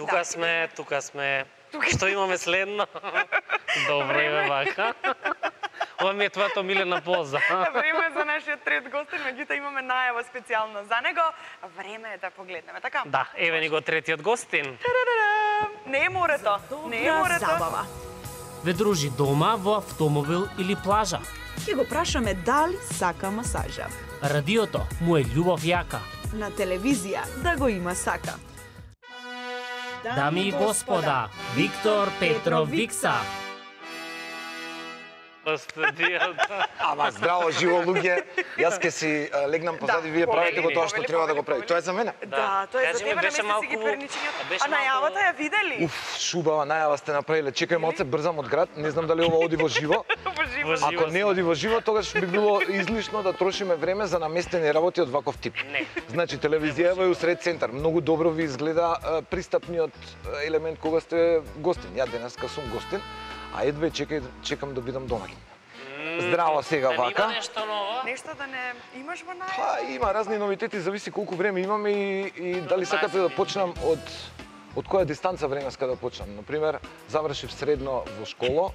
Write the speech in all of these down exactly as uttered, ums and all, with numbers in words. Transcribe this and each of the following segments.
Тука сме, тука сме. Што имаме следно? Добро име вака. Ова ми е твојата милена поза. Време е за нашиот трет гостин, меѓутоа имаме најава специјална за него. Време е да погледнеме, така? Да, еве ни го третиот гостин. Не е морето, не е морето. Забава. Ве дружи дома, во автомобил или плажа. Ќе го прашаме дали сака масажа. Радиото му е љубов јака. На телевизија да го има сака. Дами и господа, Виктор Петров Викса. Ама здраво, живо луѓе. Јас ќе си а, легнам позади, Да, вие правите го повели, тоа што повели, треба да го повели, прави. Тоа е за мене. Да, тоа е Кажи за ми, тебе, беше намести си ги малку- перничињата. беше А најавата малку- ја видели? Уф, шубава најава сте направиле. Чекај малце, брзам од град. Не знам дали ова оди во живо. Во живо. Во живо. Ако не оди во живо, тогаш би било излишно да трошиме време за наместени работи од ваков тип. Не. Значи, телевизија е усред центар. Многу добро ви изгледа а, пристапниот а, елемент кога сте гостин. Ја денеска сум гостин, а едве чекај, чекам да бидам домаќин. Здраво сега Да вака. има нешто ново? Нешто да не имаш во најава? Па има разни новитети, зависи колку време имаме и, и дали сакате да почнам од од која дистанца времеска да почнам. Например, завршив средно во школа,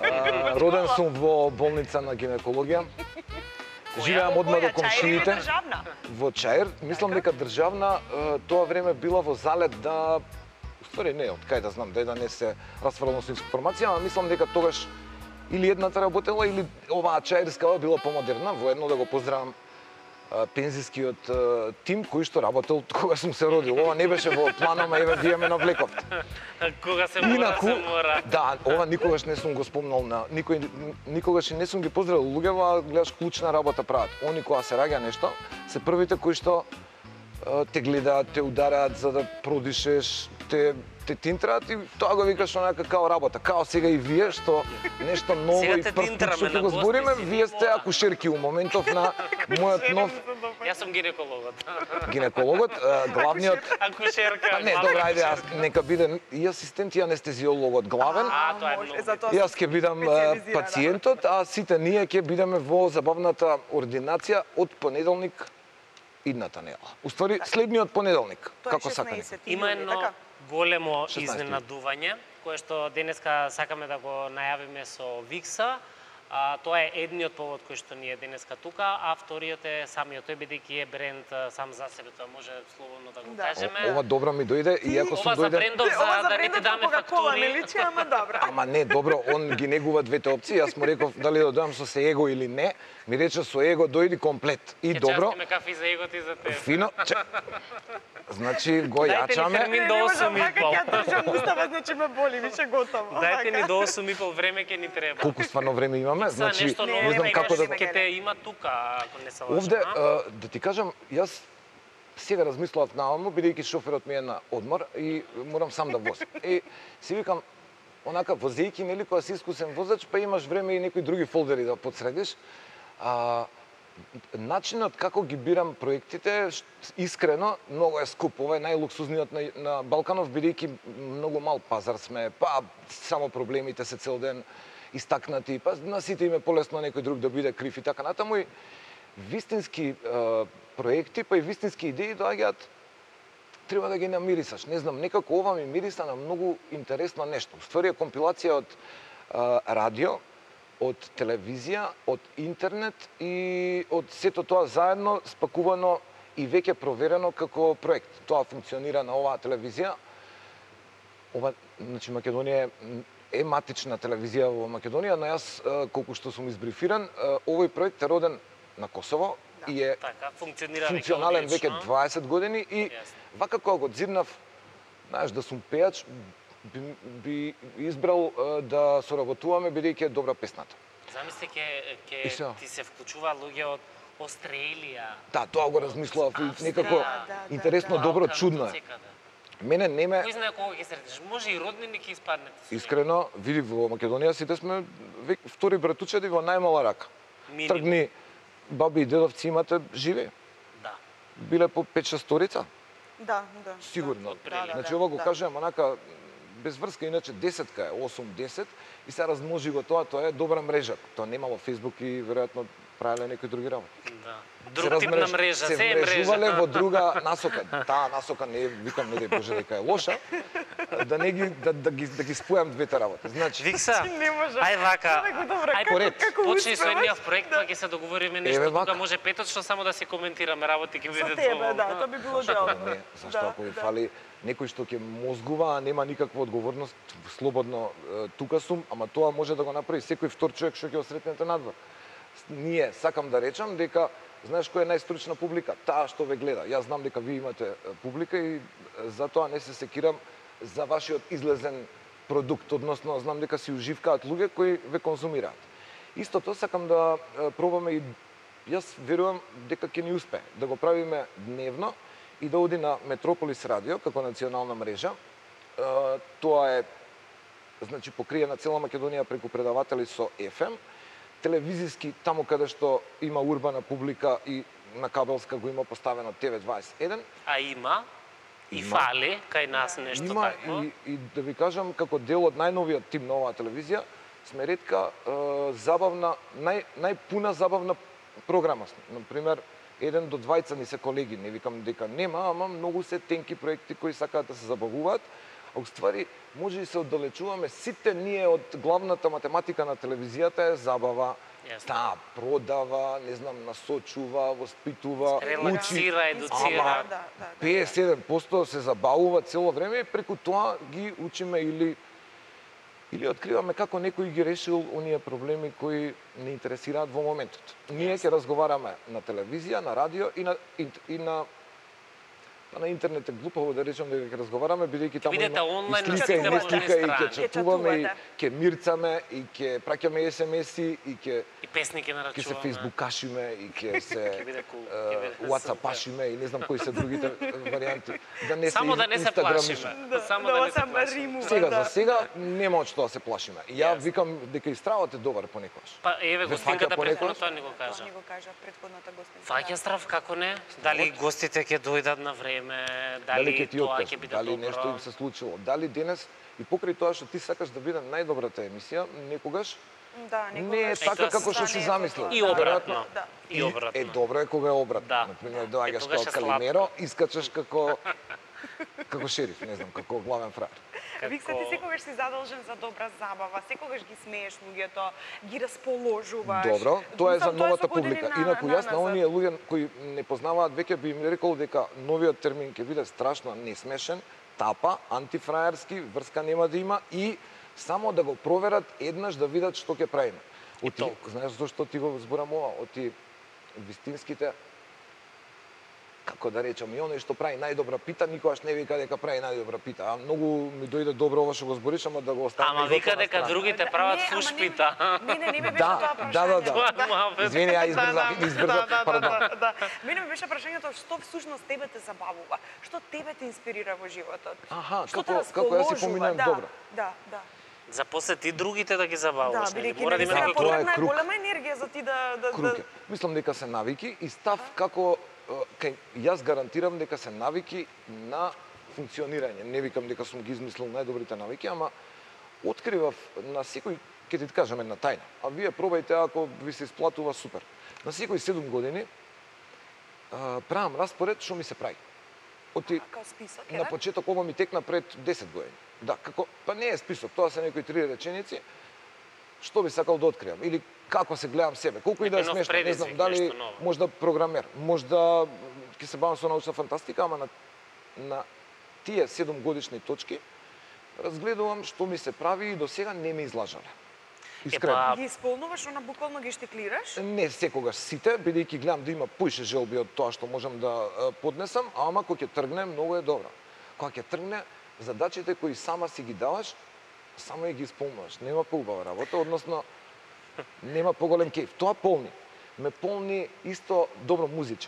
а, роден сум во болница на гинекологија. Живеам одма до Која, Чаир или комшиите. државна? Во Чаир, мислам дека државна, е, тоа време била во залет да уствари не, од кај да знам, да не се расфрлам со информација, ама мислам дека тогаш или едната работела или оваа Чаирскава била помодерна. Воедно да го поздравам а, пензискиот а, тим кој што работел кога сум се родил. Ова не беше во планот, еве вие ме навлековте. Кога се мора, Инаку, се мора. да, ова никогаш не сум го спомнал на никој, никогаш и не сум ги поздравил луѓето, а гледаш клучна работа прават. Они кога се раѓа нешто, се првите кои што а, те гледаат, те удараат за да продишеш, те те тинтраат и тоа го викаш онака као работа. Као сега и вие што нешто ново Сега и те прв тинтраме пат што на го гости збориме, си, вие сте мора. акушерки у моментов на мојот нов Јас сум гинекологот. гинекологот, а, главниот. Акушерка. Па не, добра, ајде, јас нека биде и асистент и анестезиологот главен. А, тоа е може, многу. затоа Јас ќе бидам а, специализирана. пациентот, а сите ние ќе бидеме во забавната ординација од понеделник идната недела. Уствари, следниот понеделник. Тоа е Како сакате? шеснаесети Има јули, едно така? големо шеснаесети. изненадување, кое што денеска сакаме да го најавиме со Викса. А, тоа е едниот повод кој што ние денеска тука, а вториот е самиот тој, бидејќи е бренд а, сам за себе, тоа може слободно да го Да. кажеме. Ова добро ми дојде, иако сум Ова за дојден... брендов Не, ова за за да не ти брендот даме на Кока-Кола не фактури. личи, ама добра. Ама не, добро, он ги негува двете опции. Јас му реков дали да дојам со се его или не. Ми рече со его дојди комплет. И Ќе добро, частиме кафе за егот и за тебе. фино. Че... Значи го Дајте ни јачаме. термин до Не осум можам и вака, пол. ќе ја држам устава, значи ме боли, више готово. Дајте ни Вака. до осум и пол време ќе ни треба. Колку стварно време имаме? Са Значи, нешто не ново, не знам не, како да... не, ќе те има тука, ако не се лажам. Овде, а? а, да ти кажам, јас сега размислував наомо, бидејќи шоферот ми е на одмор и морам сам да возам. И си викам, онака возејќи, нели, кога си искусен возач, па имаш време и некои други фолдери да подсредиш. А, начинот како ги бирам проектите, ш- искрено, многу е скуп. Ова е најлуксузниот на, на Балканов, бидејќи многу мал пазар сме, па само проблемите се цел ден истакнати, па на сите им е полесно некој друг да биде крив и така натаму. И вистински е, проекти, па и вистински идеи доаѓаат, треба да ги намирисаш. Не знам, некако ова ми мириса на многу интересно нешто. Ствари е компилација од е, радио, од телевизија, од интернет и од сето тоа заедно спакувано и веќе проверено како проект. Тоа функционира на оваа телевизија. Ова, значи, Македонија е е матична телевизија во Македонија, но јас, е, колку што сум избрифиран, е, овој проект е роден на Косово и е Така, функционира функционален веќе веќе дваесет години и Јасно. вака кога го дзирнав, знаеш, да сум пејач, би, би избрал е, да соработуваме бидејќи е добра песната. Замисли ќе И се. ќе ти се вклучува луѓе од Австралија. Да, тоа го размислував и Австрија, некако да, да, интересно, да. добро, Балкан, чудно е. отсекаде. Мене не ме Кој знае кога ќе сретнеш? Може и роднини ќе испаднете. со искрено, види во Македонија сите сме век, втори братучеди во најмала рака. Минимум. Тргни баби и дедовци имате живи. Да. Биле по пет-шест сторица. Да, да. Сигурно. Да, да, Значи да, ова го да. кажувам онака без врска, иначе десетка е, осум-десет и се размножи го тоа, тоа е добра мрежа. Тоа немало Фејсбук и веројатно правеле некои други работи. Да. се Друг тип на размреж- мрежа, се се е мрежувале мрежа. во друга насока. Таа насока не е, викам, не да Боже дека е лоша, да не ги да, да ги да ги спојам двете работи. Значи, Викса, Не може. ај вака, Човеку, добро, ај како, поред. како почни со успеваш? едниот проект, па ќе се договориме нешто Еве тука, вака. може петочно само да си коментираме работи, ќе Со биде тебе, доволно. да, тоа би било зашто дело. не? Зашто ако ви фали некој што ќе мозгува, а нема никаква одговорност, слободно е, тука сум, ама тоа може да го направи секој втор човек што ќе го сретнете надвор. Ние сакам да речам дека знаеш која е најстручна публика? Таа што ве гледа. Јас знам дека вие имате е, публика и е, затоа не се секирам за вашиот излезен продукт, односно знам дека си уживкаат луѓе кои ве конзумираат. Истото сакам да е, пробаме и јас верувам дека ќе ни успее да го правиме дневно и да оди на Метрополис радио како национална мрежа. Е, Тоа е значи покриена цела Македонија преку предаватели со еф ем, телевизиски таму каде што има урбана публика и на кабелска го има поставено Т В дваесет и еден. А има и Има. фали кај нас нешто Има такво. и, и да ви кажам како дел од најновиот тим на оваа телевизија сме ретка е, забавна, нај, најпуна забавна програма сме. Например, еден до двајца ни се колеги, не викам дека нема, ама многу се тенки проекти кои сакаат да се забавуваат, а уствари може и се оддалечуваме сите ние од главната математика на телевизијата е забава. Јасно. Таа продава, не знам, насочува, воспитува, учи. Релаксира, едуцира. Ама, Да, да, да. петдесет и седум проценти се забавува цело време и преку тоа ги учиме или или откриваме како некој ги решил оние проблеми кои не интересираат во моментот. Ние ќе разговараме на телевизија, на радио и на и, и на па на интернет е глупаво да речам дека ќе разговараме бидејќи таму Бидете има онлайн и на слика и сите не можни слика и ќе страни. чатуваме и Ќе ќе мирцаме и ќе праќаме ес ем еси и ќе И песни ќе ќе се нарачуваме. фейсбукашиме и ќе се Ќе биде кул, ќе биде е, уатсапашиме и не знам кои се другите варијанти. Да не се Само да не се инстаграмишме. плашиме. Да, Само да да не го се сам плашиме. римува, Сега да. за сега нема од што да се плашиме. И Ја Јасно. викам дека и стравот е добар понекогаш. Па еве Ве гостинката фаќа понекогаш? претходно тоа ни го Тоа кажа. ни го кажа претходната гостинка. Фаќа страв како не? Дали гостите ќе дојдат на време? Дали Дали ќе ти тоа откажат, ќе биде дали добро? нешто им се случило, дали денес и покрај тоа што ти сакаш да биде најдобрата емисија, некогаш Да, не е некогаш така тоа како што стане си ето замислил. тоа. И Да. обратно. Да. И обратно. Е, добро е кога е обратно. Да. Например, Е, доаѓаш тогаш како е сладко. Калимеро, искачаш како како шериф, не знам, како главен фраер. Викса, ти секогаш си задолжен за добра забава, секогаш ги смееш луѓето, ги расположуваш. Добро, тоа е за Мислам, новата со години публика. на- Инаку на- јас на назад. оние луѓе кои не познаваат веќе би им рекол дека новиот термин ќе биде страшно несмешен, тапа, антифраерски, врска нема да има и само да го проверат еднаш да видат што ќе правиме. Оти, толку. знаеш зошто ти го зборам ова? Оти вистинските како да речам, и оној што прави најдобра пита, никогаш не вика дека прави најдобра пита. А многу ми дојде добро ова што го збориш, ама да го оставиме Ама и тоа вика на дека страна. другите Да, прават не, ама фуш не- пита. Не, не, не ми беше Да, тоа да, прашањето. да, да. Тоа Извини, ја избрзав, Да, избрзав, да, да, пардон. да, да. Мене ми беше прашањето што всушност тебе те забавува, што тебе те инспирира во животот. Аха, Што како- те како јас си расположува, поминувам да, добро. Да, да. Запосети другите да ги Да, забавуваш, нели? бидејќи Мора да има наистина Да, некој тоа е потребна е круг. голема енергија за ти да да Круг да е. Мислам дека се навики и став како е, кај јас гарантирам дека се навики на функционирање. Не викам дека сум ги измислил најдобрите навики, ама откривав на секој, ќе ти кажам една тајна, а вие пробајте ако ви се исплатува супер. На секој седум години а, правам распоред што ми се прави. Оти како список, на е? почеток ова ми текна пред десет години. Да, како па не е список, тоа се некои три реченици. Што би сакал да откриам или како се гледам себе, колку и да е Некој нов смешно, не знам, предизвик, дали нешто ново. можда програмер, можда ќе се бавам со научна фантастика, ама на на тие седум годишни точки разгледувам што ми се прави и до сега не ме излажале. Искрено. Епа, Ги исполнуваш, она буквално ги штиклираш? Не секогаш сите, бидејќи гледам да има поише желби од тоа што можам да е, поднесам, ама кога ќе тргне многу е добро. Кога ќе тргне, задачите кои сама си ги даваш, само и ги исполнуваш. Нема поубава работа, односно нема поголем кејф. Тоа полни. Ме полни исто добро музиче.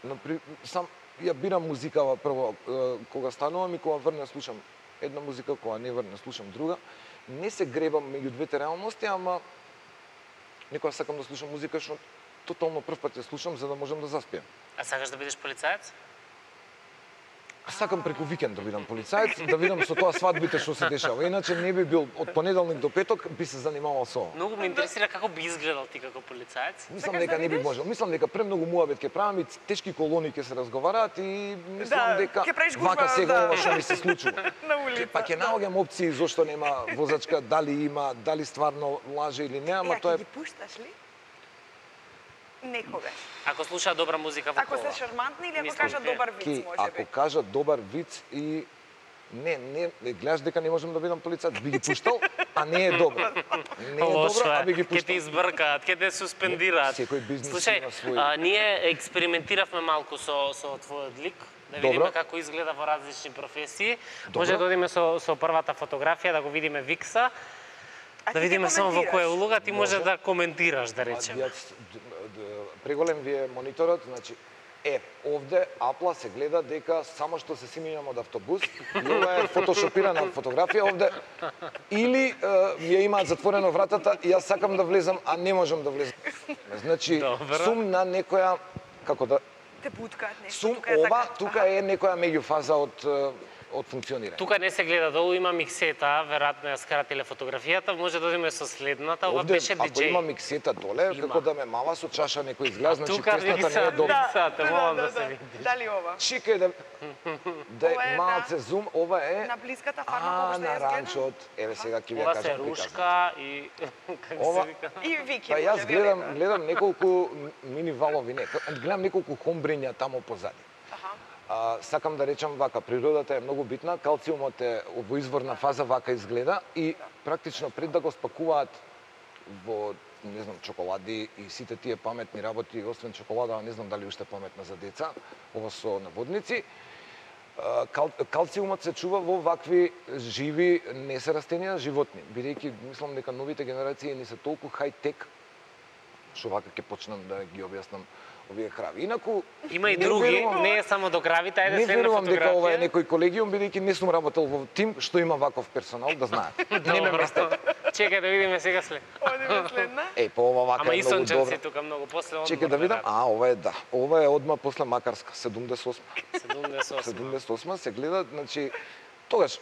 Напри... Сам ја бирам музикава прво е, кога станувам и кога врне слушам една музика, кога не врне слушам друга. Не се гребам меѓу двете реалности, ама некоја сакам да слушам музика што тотално прв пат ја слушам за да можам да заспиам. а сакаш да бидеш полицаец? Сакам преку викенд да видам полицаец, да видам со тоа свадбите што се дешава. Иначе не би бил од понеделник до петок би се занимавал со ова. Многу ме интересира како би изгледал ти како полицаец. Мислам дека не би можел. Мислам дека премногу муабет ќе правам и тешки колони ќе се разговараат и мислам Да, дека ќе правиш гужва, вака сега да. ова што ми се случува. На улица. Па ќе наоѓам опции зошто нема возачка, дали има, дали стварно лаже или не, ама Ја, тоа ќе е ги пушташ ли? Некогаш. Ако слуша добра музика во Ако кола. се шармантни или ако Мислам, кажат ке- добар виц, ки, може ако би. кажат добар виц и не, не, не гледаш дека не можам да видам полицаец, би ги пуштал, а не е добро. Не е Лошо добро, е. а би ги Ќе пуштал. те избркаат, ќе те суспендираат. Секој бизнис Слушај, има свој- а, ние експериментиравме малку со со твојот лик, да видиме Добро. како изгледа во различни професии. Добро. Може да одиме со со првата фотографија да го видиме Викса, А да ти ќе видиме само во која коментираш. улога ти може Може. да коментираш, да речеме. Јас, д- д- преголем ви е мониторот, значи, е, овде Апла се гледа дека само што се симињам од автобус, и ова е фотошопирана фотографија овде, или е, ми ја имаат затворено вратата и јас сакам да влезам, а не можам да влезам. Значи, Добро. сум на некоја, како да, Те буткаат нешто. сум тука е ова, така. тука Аха. е некоја меѓуфаза од е, од функционирање. Тука не се гледа долу, има миксета, веројатно ја скратиле фотографијата, може да одиме со следната, ова Овде, беше ако диџеј. има миксета доле, Има. како да ме мала со чаша некој изгледа, значи тука песната види не е са- добра. Да. Сате, молам да се видиш. Дали ова? Чекај да да Ова е, е малце зум, ова е На блиската фарма а, како што на ја изгледа? ранчот. Еве сега ќе ви ја Ова се кажам рушка и како Ова- се вика? И Вики. Па јас може, гледам велика. гледам неколку мини валови, не, гледам неколку хомбриња таму позади. Аха. А, сакам да речам вака, природата е многу битна, калциумот е во изворна фаза вака изгледа и практично пред да го спакуваат во не знам чоколади и сите тие паметни работи, освен чоколада, не знам дали уште паметна за деца, ова со наводници. а, Кал, калциумот се чува во вакви живи, не се растенија, животни. Бидејќи мислам дека новите генерации не се толку хај-тек, што вака ќе почнам да ги објаснам овие крави. Инаку Има и не други, верувам- не е само до кравите, ајде не следна верувам дека ова е фотографија. некој колегиум, бидејќи не сум работел во тим што има ваков персонал, да знаат. Не ме Добро. местете. Чекај да видиме сега след. Одиме следна. Еј, па ова вака Ама е и многу сончевци добро. тука многу после одмор. Чекај да видам. А, ова е да. Ова е одма после Макарска, седумдесет и осма. седумдесет и осма. седумдесет и осма се гледа, значи тогаш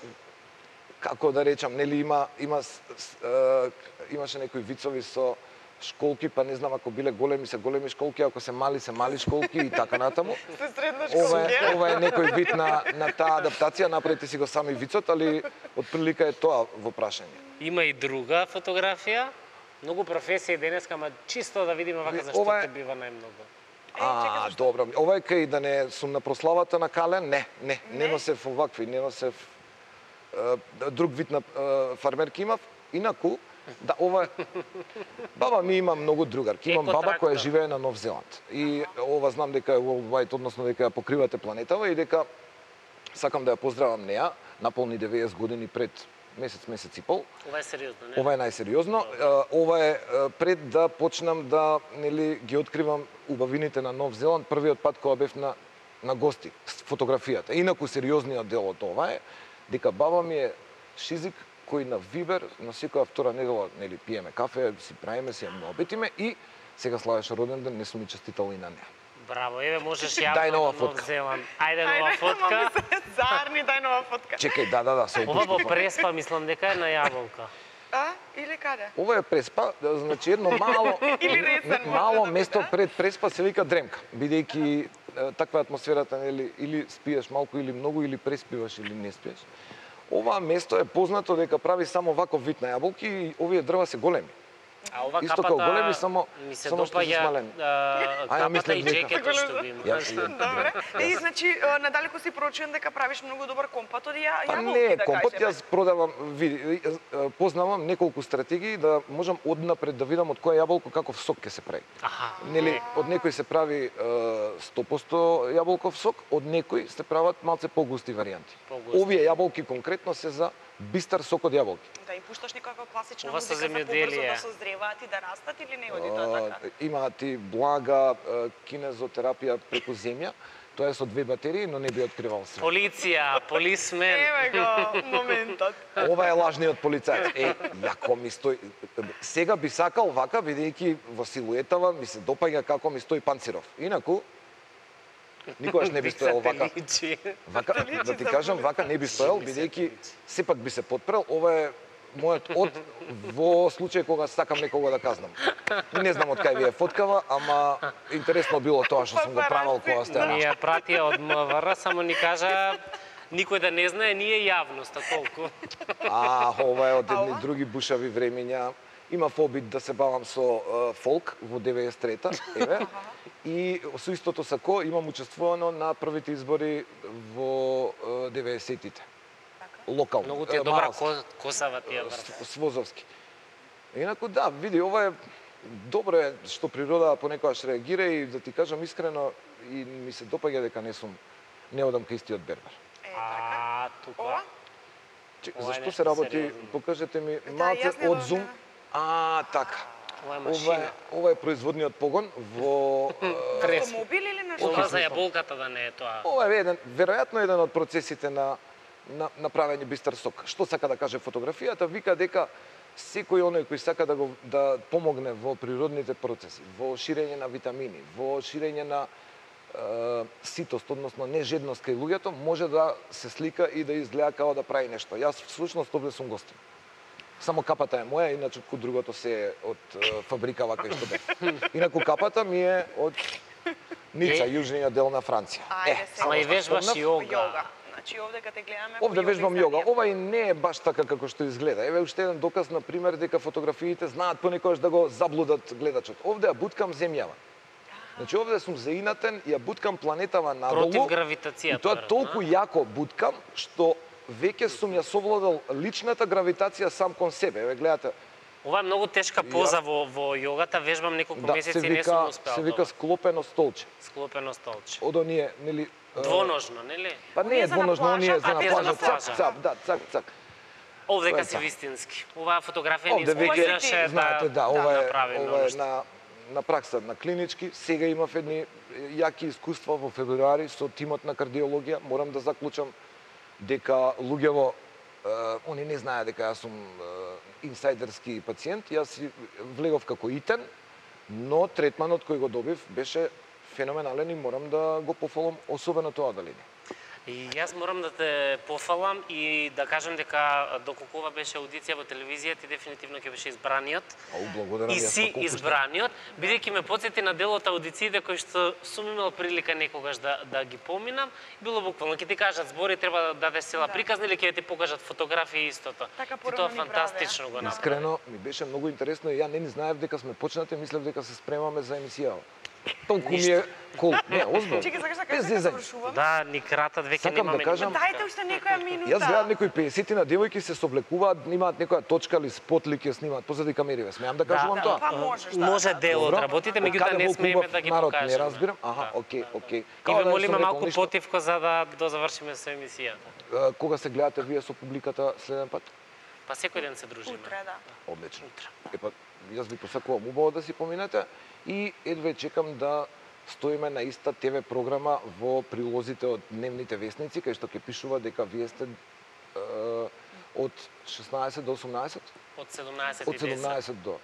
како да речам, нели има има с- с- е, имаше некои вицови со школки, па не знам ако биле големи се големи школки, ако се мали се мали школки и така натаму. Се средна Ова е, школа. ова е некој вид на, на таа адаптација, направете си го сами вицот, али отприлика е тоа во прашање. Има и друга фотографија. Многу професии денеска, ама чисто да видиме вака зашто Ова е- те бива најмногу. А, добро. Ова е кај да не сум на прославата на Кален? Не, не, не Не? носев овакви, не носев е, друг вид на е, фармерки имав. Инаку, да, ова е... Баба ми има многу другарки. Имам баба Екотрактор. која живее на Нов Зеланд. И ова знам дека е worldwide, односно дека ја покривате планетава и дека сакам да ја поздравам неа. Наполни деветдесет години пред месец, месец и пол. Ова е сериозно, не? Ова е најсериозно. Е, Ова е е, пред да почнам да нели ги откривам убавините на Нов Зеланд, првиот пат кога бев на на гости с фотографијата. Инаку сериозниот дел од ова е дека баба ми е шизик кој на Вибер на секоја втора недела нели пиеме кафе, си правиме, си ја обетиме и сега славеше роден ден, не сум и честитал и на неа. Браво, еве можеш јавно Дај нова Нов фотка. Зеланд. Ајде нова фотка. Зарни, дај нова фотка. Чекај, да, да, да, се Ова во опустив. Преспа мислам дека е на јаболка. А? Или каде? Ова е Преспа, да, значи едно мало Или Ресен може мало да место биде. пред Преспа се вика Дремка, бидејќи е, таква е атмосферата, нели, или спиеш малку или многу или преспиваш или не спиеш. Ова место е познато дека прави само ваков вид на јаболки и овие дрва се големи. А ова Исто капата како големи, само- ми се само што се допаѓа смалени. а, А, ја капата мислев и дека- джекетот што го има. Ја- ја- Добре. И значи а, надалеку си прочуен дека правиш многу добар компот од ја, Па јаболки, не, да компот кажеме. јас продавам, види, е, е, познавам неколку стратегии да можам однапред да видам од која јаболко каков сок ќе се прави. Аха. Нели, од некој се прави е, сто проценти јаболков сок, од некој се прават малце погусти варијанти. Погусти. Овие јаболки конкретно се за бистар сок од јаболки. Да им пушташ некаква класична Ова со музика за побрзо земјоделие. да созреваат и да растат или не оди тоа така? Е, Имаат и блага е, кинезотерапија преку земја. Тоа е со две батерии, но не би откривал се. Полиција, полисмен. Еве го моментот. Ова е лажниот полицаец. Е, јако ми стои... Сега би сакал вака, бидејќи во силуетава ми се допаѓа како ми стои Панциров. Инаку, Никогаш не би стоел вака. Личи. Вака, да ти кажам, вака не би стоел, бидејќи сепак би се потпрел. Ова е мојот од во случај кога сакам некого да казнам. Не знам од кај ви е фоткава, ама интересно било тоа што сум го правил кога сте. Ни ја пратија од МВР, само ни кажа никој да не знае, ние јавноста толку. А, ова е од едни други бушави времења. Имав обид да се бавам со uh, фолк во деветдесет и трета, еве. И со истото сако имам учествувано на првите избори во uh, деветдесетите. Локално. Многу ти е добра косава тие врта. Свозовски. Инаку да, види, ова е добро е што природата понекогаш реагира и да ти кажам искрено и ми се допаѓа дека не сум не одам кај истиот бербер. А, тука. Чек, зашто се работи? Покажете ми малце од зум. А, така. Ова е Ова машина. е, ова е производниот погон во Автомобил или нешто? Ова за јаболката да не е тоа. ова е еден, веројатно еден од процесите на на направење бистар сок. Што сака да каже фотографијата? Вика дека секој оној кој сака да го да помогне во природните процеси, во ширење на витамини, во ширење на е, ситост, односно нежедност кај луѓето, може да се слика и да изгледа као да прави нешто. Јас всушност овде сум гостин. Само капата е моја, иначе ко другото се е од е, фабрика вака што бе. Инаку капата ми е од Ница, јужниот дел на Франција. Ајде сега. Ама и вежбаш спомнав. јога. Јога. Значи овде кога те гледаме Овде по вежбам изгледа. јога. Ова и не е баш така како што изгледа. Еве уште еден доказ на пример дека фотографиите знаат понекогаш да го заблудат гледачот. Овде ја буткам земјава. Значи овде сум заинатен, ја буткам планетава надолу. Против гравитацијата. И тоа толку јако буткам што веќе сум ја совладал личната гравитација сам кон себе. Еве гледате. Ова е многу тешка поза во во јогата, вежбам неколку Да, месеци се и не сум вика успеал. се вика склопено столче. склопено столче. Од оние, нели, е, Двоножно, нели? па не Оние е за на двоножно, плажа, оние за а на тие за плажа, на цак, плажа. цак, да, цак, цак. Овдека Тоа е си така. вистински. Оваа фотографија ни Овде веќе изгледаше знаете, да, да, ова е направи ова многу е што. на на пракса на клинички. Сега имав едни јаки искуства во февруари со тимот на кардиологија. Морам да заклучам дека луѓево е, они не знаат дека јас сум е, инсайдерски пациент. Јас си влегов како итен, но третманот кој го добив беше феноменален и морам да го пофалам, особено тоа одделение. И јас морам да те пофалам и да кажам дека доколку ова беше аудиција во телевизија, ти дефинитивно ќе беше избраниот. Ау, благодарам И јас, си па колку што- избраниот, бидејќи ме потсети на дел од аудициите кои што сум имал прилика некогаш да да ги поминам. Било буквално ќе ти кажат збори, треба да дадеш цела Да. приказна или ќе ти покажат фотографии истото. Така И порано тоа ни фантастично го правеа. направи. Искрено, ми беше многу интересно и ја не ни знаев дека сме почнати, мислев дека се спремаме за емисија. Толку ми е кол. Не, озбилно. Чекај, сакаш да Без кажеш дека зезање. завршувам? Да, ни кратат веќе Сакам да немаме. кажам- Дајте уште некоја минута. Јас гледам некои пеесет на девојки се соблекуваат, имаат некоја точка или спотлик ја снимаат позади камериве. Смеам да кажувам да, тоа? па можеш да. Може дел од Добро. работите, Од меѓутоа каде не во смееме хубав да ги народ, покажеме. не разбирам. Аха, Да, окей, да. окей. И Као ве да не молиме сум рекол малку ништо. потивко за да да завршиме со емисијата. Е, Кога се гледате вие со публиката следен пат? Па секој ден се дружиме. Утре, да. Одлично. Епа, јас ви посакувам убаво да си поминете и едве чекам да стоиме на иста те ве програма во прилозите од дневните весници, кај што ќе пишува дека вие сте е, од шеснаесет до осумнаесет, Од седумнаесет од и десет. седумнаесет до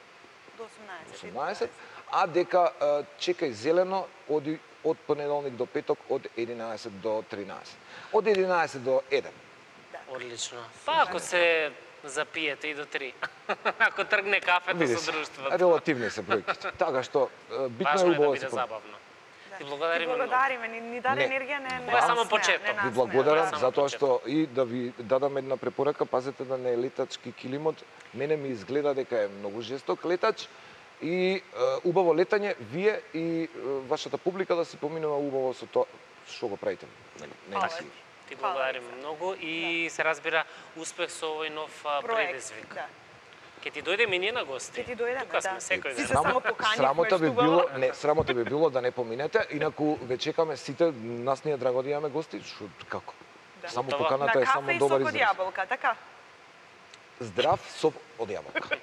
До осумнаесет. осумнаесет, а дека е, чекај зелено оди од понеделник до петок од единаесет до тринаесет. Од единаесет до еден. Одлично. Па ако се запиете и до три. Ако тргне кафето Види со се, друштвото. релативни се бројките. Така што е, битно Важно е е да убаво да биде се помине. забавно. Ти Ти благодариме многу. благодариме, ни, ни даде Не. енергија, не, не Ова е само насмеа, почеток. не Ви Ви насмеа. благодарам Само затоа почеток. што и да ви дадам една препорака, пазете да не е летачки килимот. Мене ми изгледа дека е многу жесток летач и е, убаво летање, вие и е, вашата публика да си поминува убаво со тоа што го правите. Нели, не Фала си. ти. Ти Фала благодариме ти. многу и се разбира успех со овој нов а, Проект, предизвик. да. Ќе ти дојдеме и ние на гости. Ќе ти дојдеме, Тука сме да. секој Си ден. се само поканивме, срамота би што било, убаво. не, срамота би било да не поминете, инаку ве чекаме сите, нас ни е драго да имаме гости, шо како? Да. Само Готово. поканата На е само кафе и добар сок од израз. јаболка, така? Здрав соп од јаболка.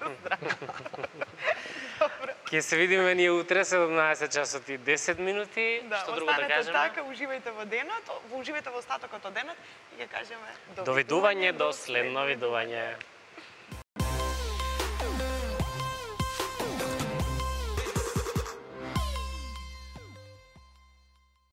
Ќе се видиме ние утре седумнаесет часот и десет минути. Да, Што друго да останете кажеме? така, уживајте во денот, уживајте во остатокот од денот и ќе кажеме Довидување до следно видување.